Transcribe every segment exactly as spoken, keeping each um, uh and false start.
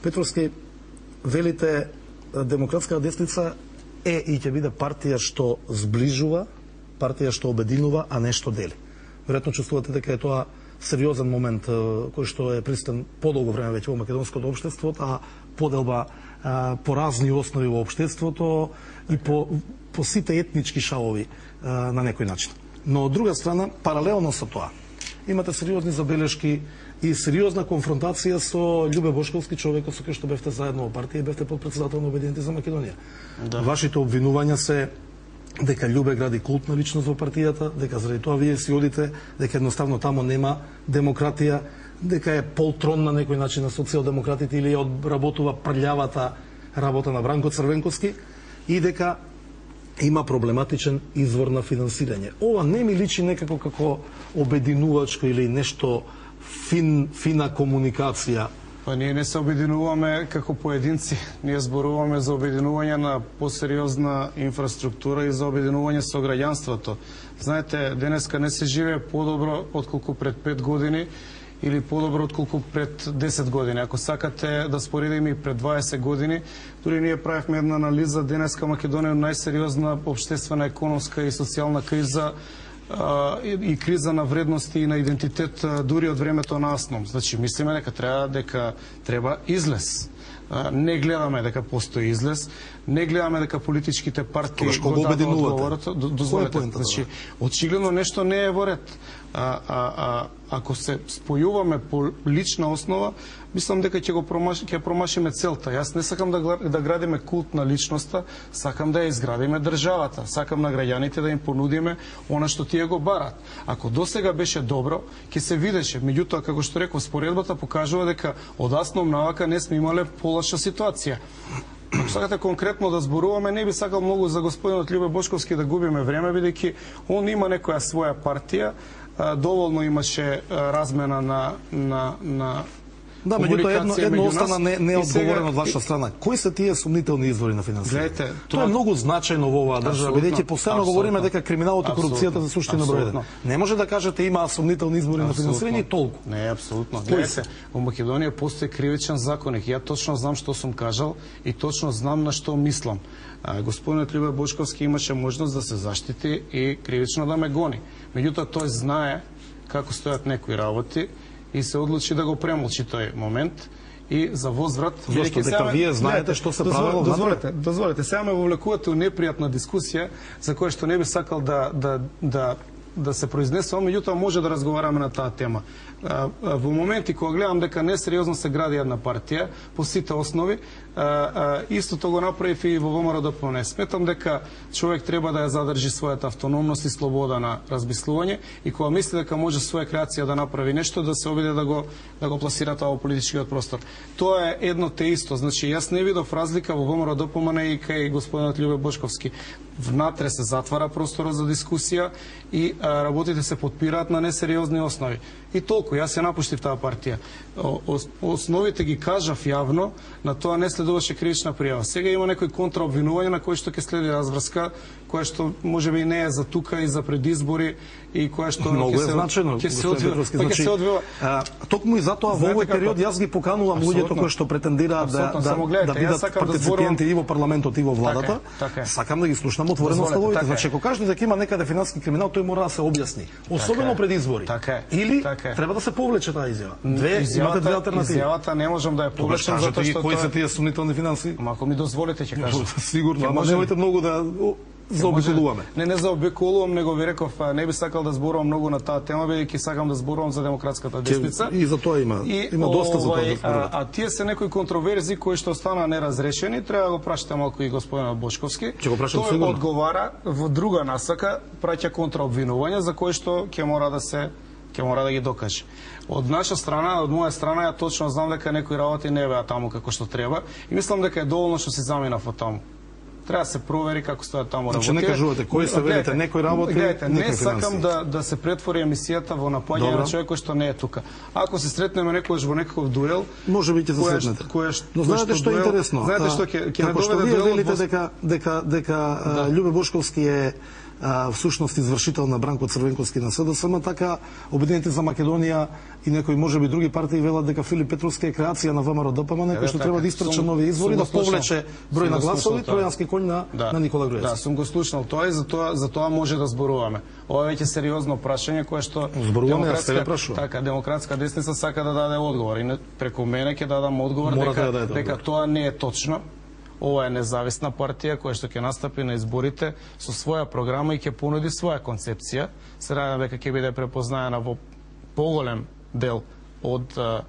Петровски, велите демократска десница е и ќе биде партија што сближува, партија што обединува, а не што дели. Веројатно чувствувате дека е тоа сериозен момент кој што е присутен подолго време веќе во македонското општество, а поделба а, по разни основи во општеството и по, по сите етнички шалови а, на некој начин. Но од друга страна, паралелно со тоа, имате сериозни забелешки и сериозна конфронтација со Љубе Бошковски, човекот со кој што бевте заедно во партија и бевте подпредседател на Обединети за Македонија. Да. Вашите обвинувања се дека Љубе гради култна личност во партијата, дека заради тоа вие си одите, дека едноставно тамо нема демократија, дека е полтрон на некој начин на социјалдемократите или одработува прљавата работа на Бранко Црвенковски и дека има проблематичен извор на финансирање. Ова не ми личи некако како обединувачко или нешто фин, фина комуникација. Па ние не се обединуваме како поединци, ние зборуваме за обединување на посериозна инфраструктура и за обединување со граѓанството. Знаете, денеска не се живее подобро отколку пред пет години или подобро отколку пред десет години. Ако сакате да споредиме и пред дваесет години, дури ние правевме една анализа, денеска Македонија е најсериозна општествена, економска и социјална криза и криза на вредности и на идентитет дури од времето на Асном. Значи, мислиме дека треба дека треба излез. Не гледаме дека постои излез, не гледаме дека политичките партии го дадат одговорот. Дозволете, значи, очигледно нешто не е во ред. А, а, а, ако се спојуваме по лична основа, мислам дека ќе го промаш, ќе промашиме целта. Јас не сакам да, да градиме култ на личноста, сакам да ја изградиме државата. Сакам на граѓаните да им понудиме она што тие го барат. Ако досега беше добро, ќе се видеше. Меѓутоа, како што реков, споредбата покажува дека од Асном навака не сме имале полоша ситуација. Ако сакате конкретно да зборуваме, не би сакал многу за господинот Љубе Бошковски да губиме време, бидејќи он има некоја своја партија, доволно имаше размена на на на Да, меѓутоа едно, едно остана не, неодговорено од ваша страна. Кои се тие сумнителни извори на финансирање? Гледайте, тоа е многу значајно во оваа држава, бидејќи постојано говориме дека криминалот и корупцијата се суштина број еден. Не може да кажете има сумнителни извори на финансирање и толку. Не, апсолутно. Гледайте, во Македонија постои кривичен законник. Ја точно знам што сум кажал и точно знам на што мислам. Господинот Љубе Бошковски имаше можност да се заштити и кривично да ме гони. Меѓутоа тој знае како стојат некои работи и се одлучи да го премолчи тој момент и за возврат. Зошто дека вие знаете што се правело? Дозволете, дозволете, сега ме вовлекувате у непријатна дискусија за која што не би сакал да да да да се произнесувам, меѓутоа може да разговараме на таа тема. Во моменти кога гледам дека несериозно се гради една партија по сите основи, истото го направив и во ВМРО-ДПМНЕ. Сметам дека човек треба да ја задржи својата автономност и слобода на размислување и кога мисли дека може своја креација да направи нешто, да се обиде да го да го пласира тоа во политичкиот простор. Тоа е едно те исто. Значи јас не видов разлика во ВМРО-ДПМНЕ и кај господинот Љубе Бошковски. Внатре се затвара просторот за дискусија и а, работите се подпираат на несериозни основи. И толку, јас ја напуштив таа партија. Основите ги кажав јавно, на тоа не следуваше кривична пријава. Сега има некои контраобвинувања на кои што ќе следи разврска, која што можеби не е за тука и за предизбори и која што многу е значено, ќе се одвива, па ќе се одвива. Токму и затоа во овој период јас ги поканувам луѓето кои што претендираат да да да бидат партиципенти и во парламентот и во владата. Сакам да ги слушнам отворено ставовите. Значи ако кажете дека има некаде финансиски криминал, тој мора да се објасни, особено пред избори. Или треба да се повлече таа изјава. Две имате две алтернативи. Изјавата не можам да ја повлечам затоа што кои се тие сумнителни финанси? Ама ако ми дозволите ќе кажам. Сигурно, ама немојте многу да заобиколуваме. Не, не заобиколувам, него ви реков, не би сакал да зборувам многу на таа тема, бидејќи сакам да зборувам за демократската десница. И за тоа има, и, има доста за тоа да зборувам. А, а тие се некои контроверзии кои што останаа неразрешени, треба да го прашате малку и господинот Бошковски. Ќе го прашам тој сигурно. Одговара во друга насака, праќа контраобвинувања за кои што ќе мора да се ќе мора да ги докаже. Од наша страна, од моја страна, ја точно знам дека некои работи не беа таму како што треба и мислам дека е доволно што се заминав од таму. Треба да се провери како стојат таму работи. Значи не кажувате кои се велите некои работи, гледайте, не сакам да да се претвори емисијата во напаѓање на човек кој што не е тука. Ако се сретнеме некогаш во некаков дуел, може би ќе се сретнете. Но знаете што е интересно? Знаете што ќе ќе не доведе дуел? Вие велите дека дека дека Љубе Бошковски е а, всушност извршител на Бранко Црвенковски на СДСМ, така Обединените за Македонија и некои можеби други партии велат дека Филип Петровски е креација на ВМРО ДПМН, кој што треба да испрча нови избори, да повлече број на гласови, тројански коњ на, да. на Никола Груевски. Да, сум го слушнал тоа и за тоа, за тоа може да зборуваме. Ова е веќе сериозно прашање кое што зборуваме, јас тебе прашувам. Така, демократска десница сака да даде одговор и преку мене ќе дадам одговор Мора дека, да дека тоа не е точно. Ова е независна партија која што ќе настапи на изборите со своја програма и ќе понуди своја концепција. Се надевам дека ќе биде препознаена во поголем дел од а,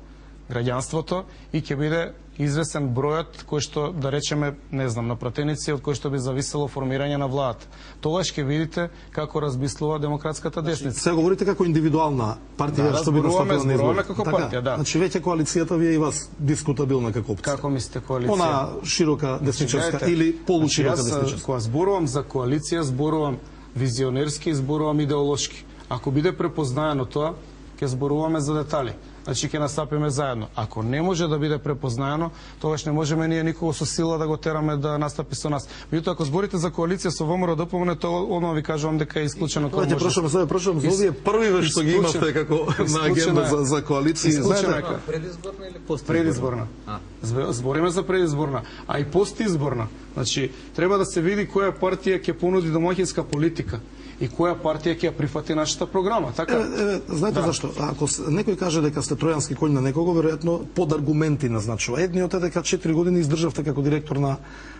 граѓанството и ќе биде известен бројот кој што, да речеме, не знам, на пратеници од кој што би зависело формирање на владата. Тогаш ќе видите како размислува демократската десница. Се говорите како индивидуална партија да, што би настапила на избори. како така, партија, да. Значи веќе коалицијата ви е и вас дискутабилна како опција. Како мислите коалиција? Она широка десничарска значи, или полуширока значи, десничарска. Кога зборувам за коалиција, зборувам визионерски, зборувам идеолошки. Ако биде препознаено тоа, ќе зборуваме за детали. Значи ќе настапиме заедно. Ако не може да биде препознаено, тогаш не можеме ние никого со сила да го тераме да настапи со нас. Меѓутоа, ако зборите за коалиција со ВМРО ДПМН, тоа одма ви кажувам дека е исклучено тоа. Ќе прашувам, сега прашувам за овие првиве што ги имате како на агенда за за коалиција. Знаете, предизборна или постизборна? Предизборна. Збориме за предизборна, а и постизборна. Значи, треба да се види која партија ќе понуди домаќинска политика и која партија ќе ја прифати нашата програма, така? Е, е, знаете да. Зашто? Ако некој каже дека сте тројански коњ на некого, веројатно под аргументи назначува. Едниот е дека четири години издржавте како директор на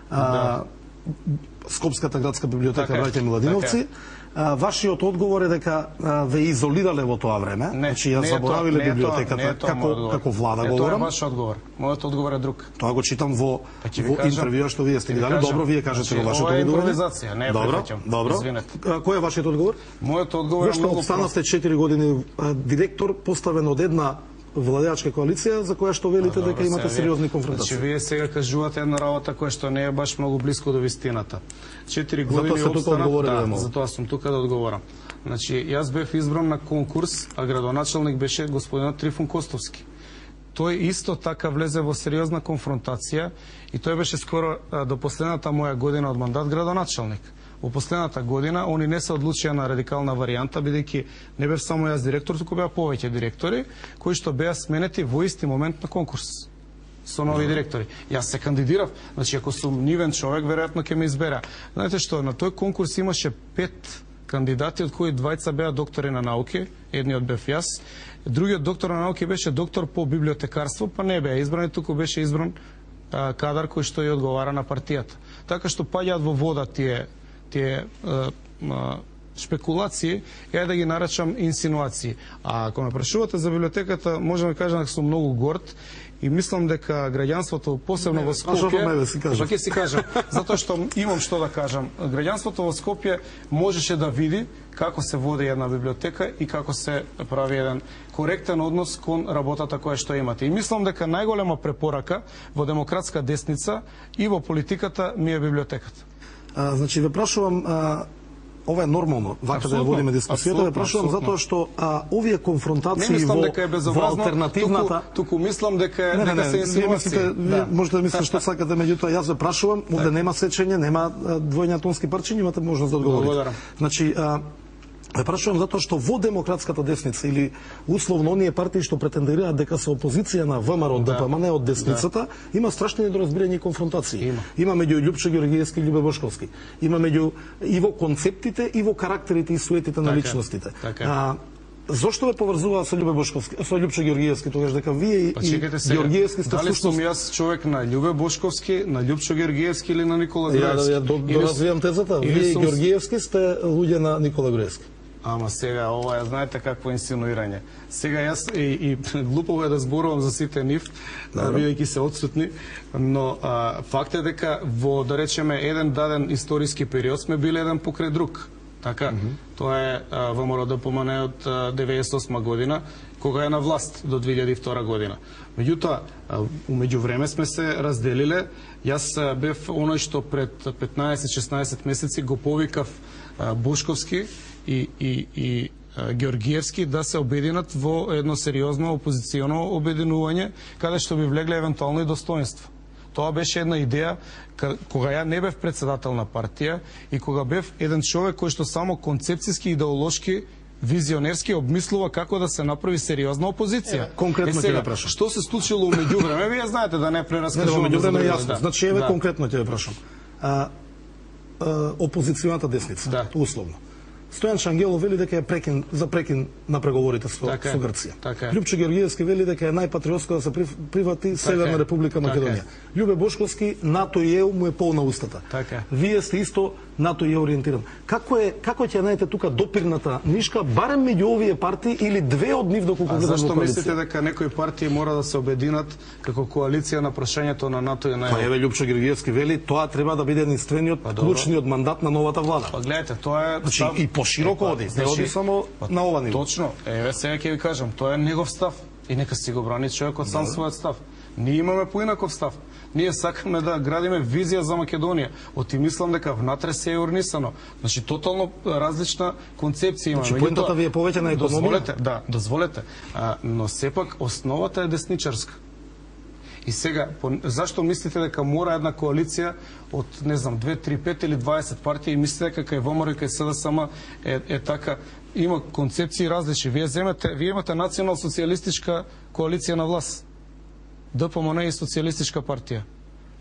а, да. Скопската градска библиотека Браќа Миладиновци. А, вашиот одговор е дека а, ве изолирале во тоа време, не, значи ја заборавиле не библиотеката не како како влада не, говорам. Тоа е ваш одговор. Мојот одговор е друг. Тоа го читам во во интервјуа што вие сте ги дали. Добро, вие кажете во вашето одговор. одговор. Импровизација, не е прифаќам. Добро. Извинете. Кој е вашиот одговор? Мојот одговор е многу прост. Останавте четири години директор поставен од една владеачка коалиција за која што велите дека имате сериозни конфронтации. Значи вие сега кажувате една работа која што не е баш многу блиско до вистината. четири години обстанав, да, затоа сум тука да одговорам. Значи јас бев избран на конкурс, а градоначалник беше господинот Трифун Костовски. Тој исто така влезе во сериозна конфронтација и тој беше скоро до последната моја година од мандат градоначалник. Во последната година они не се одлучија на радикална варијанта, бидејќи не бев само јас директор, туку беа повеќе директори кои што беа сменети во исти момент на конкурс со нови директори. Јас се кандидирав, значи ако сум нивен човек, веројатно ќе ме избера. Знаете што, на тој конкурс имаше пет кандидати, од кои двајца беа доктори на науки, едниот бев јас, другиот доктор на науки беше доктор по библиотекарство, па не беа избран, туку беше избран а, кадар кој што ја одговара на партијата. Така што паѓаат во вода тие тие а, а, шпекулации, ја да ги наречам инсинуации. А ако ме прашувате за библиотеката, можам да кажам дека сум многу горд и мислам дека граѓанството, посебно во Скопје, па ќе си кажам, затоа што имам што да кажам. Граѓанството во Скопје можеше да види како се води една библиотека и како се прави еден коректен однос кон работата која што имате. И мислам дека најголема препорака во демократска десница и во политиката ми е библиотеката. А, значи, ве прашувам, а, ова е нормално, вака да ја водиме дискусијата, ве прашувам затоа што а, овие конфронтации во, во алтернативната... Туку, туку мислам дека, не, не, дека не, се инсинуации. Да. Можете да мислите што сакате, меѓутоа јас ве прашувам, овде нема сечење, нема двојни атомски парчиња, имате можност да одговорите. Благодарам. Значи, а, ве прашувам затоа што во демократската десница или условно оние партии што претендираат дека се опозиција на ВМРО да. ДПМН од десницата, да. Има страшни недоразбирања и конфронтации. Има, има меѓу Љупчо Ѓоргиевски и Љубе Бошковски. Има меѓу и во концептите и во карактерите и суетите на така, личностите. Така. А, зошто ве поврзуваа со Љубе Бошковски, со Љупчо Ѓоргиевски тогаш дека вие па, и Ѓоргиевски сте дали сум јас човек на Љубе Бошковски, на Љупчо Ѓоргиевски или на Никола Груевски? Ја, ја, ја доразвијам тезата. Вие и Ѓоргиевски сте луѓе на Никола Груевски. Ама сега, ова е, знаете какво инсинуирање. Сега јас и, и глупово е да зборувам за сите нив, бидејќи се отсутни, но а, факт е дека во, да речеме, еден даден историски период сме били еден покрај друг. Така, mm -hmm. Тоа е ВМРО ДПМН од деветдесет и осма година, кога е на власт до две илјади и втора година. Меѓутоа, умеѓу време сме се разделиле. Јас бев оној што пред петнаесет-шеснаесет месеци го повикав Бошковски и, и, и Ѓоргиевски да се обединат во едно сериозно опозиционо обединување, каде што би влегле евентуално и достоинство. Тоа беше една идеја кога ја не бев председател на партија и кога бев еден човек кој што само концепцијски, идеолошки, визионерски обмислува како да се направи сериозна опозиција. Е, конкретно ќе ве прашам. Што се случило меѓувреме? Вие знаете да не прераскажувам. Не, меѓувреме е јасно. Да. Значи еве да. Конкретно ќе ве прашам. А, а, опозиционата десница, да. Условно. Стојан Шангелов вели дека е прекин за прекин на преговорите со, така со Грција. Така Лјупчо Георгиевски вели дека е најпатриотско да се прифати така Северна Република Македонија. Така Љубе Бошковски НАТО и ЕУ му е полна устата. Така Вие сте исто НАТО и ЕУ ориентиран. Како е како ќе најдете тука допирната нишка барем меѓу овие партии или две од нив доколку гледам во коалиција? Зашто мислите дека некои партии мора да се обединат како коалиција на прашањето на НАТО и на ЕУ? Па еве Лјупчо Георгиевски вели тоа треба да биде единствениот па, клучниот мандат на новата влада. Па гледате, тоа е значи, став... и пошироко оди. Не оди само па, на ова ниво. Точно. Еве сега ќе ви кажам, тоа е негов став и нека си го брани човекот сам својот став. Ние имаме поинаков став. Ние сакаме да градиме визија за Македонија. Оти мислам дека внатре се е урнисано. Значи тотално различна концепција имаме. Значи поентата ви е повеќе на економија? Дозволете, да, дозволете. А, но сепак основата е десничарска. И сега, по, зашто мислите дека мора една коалиција од, не знам, две, три, пет или дваесет партии и мислите дека кај ВМРО и кај СДСМ е, е така, има концепции различни. Вие земете, вие имате национал-социјалистичка коалиција на власт. ДПМН и социјалистичка партија.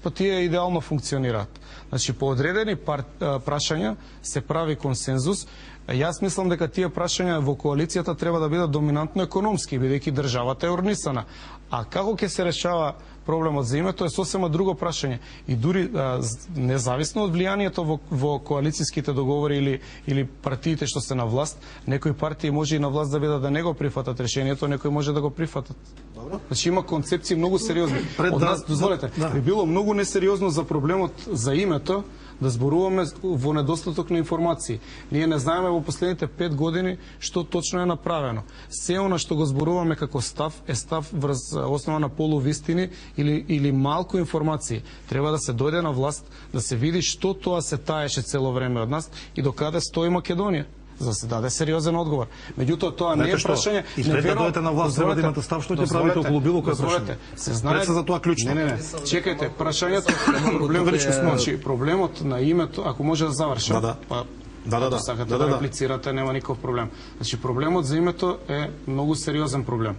Па тие идеално функционираат. Значи, по одредени пар, прашања се прави консензус. Јас мислам дека тие прашања во коалицијата треба да бидат доминантно економски, бидејќи државата е урнисана. А како ќе се решава проблемот за името е сосема друго прашање. И дури а, независно од влијанието во, во коалицијските договори или, или партиите што се на власт, некои партии може и на власт да бидат да не го прифатат решението, некои може да го прифатат. Добро. Значи има концепции многу сериозни. Пред од нас, дозволете, да. Би било многу несериозно за проблемот за името да зборуваме во недостаток на информации. Ние не знаеме во последните пет години што точно е направено. Се она што го зборуваме како став е став врз основа на полувистини или, или малку информации. Треба да се дојде на власт, да се види што тоа се таеше цело време од нас и до каде стои Македонија, за да се даде сериозен одговор. Меѓутоа тоа не е прашање. И пред да дојдете на власт треба да имате став што ќе правите околу било кој прашање. Се знае за тоа клучно. Не, не, не. Чекајте, прашањето проблемот е, значи проблемот на името, ако може да завршам. Да, да. Па, да, да, да. Сакате да, да, да, да реплицирате, нема никаков проблем. Значи проблемот за името е многу сериозен проблем.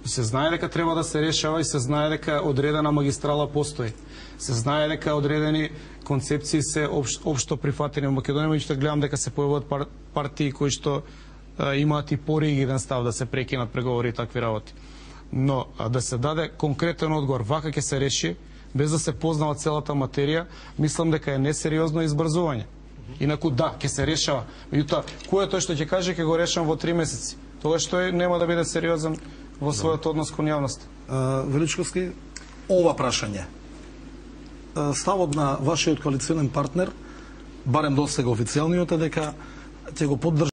Се знае дека треба да се решава и се знае дека одредена магистрала постои. Се знае дека одредени концепции се обш, обшто прифатени во Македонија, меѓутоа гледам дека се појавуваат пар, партии кои што а, имаат и поригиден став да се прекинат преговори и такви работи. Но а, да се даде конкретен одговор вака ќе се реши, без да се познава целата материја, мислам дека е несериозно избрзување. Инаку да, ќе се решава. Меѓутоа, кој е тој што ќе каже ќе го решам во три месеци? Тоа што е, нема да биде сериозен во својот однос кон јавноста. Величковски, ова прашање. Ставот на вашиот коалиционен партнер, барем досега официјалниот, е дека ќе го поддржи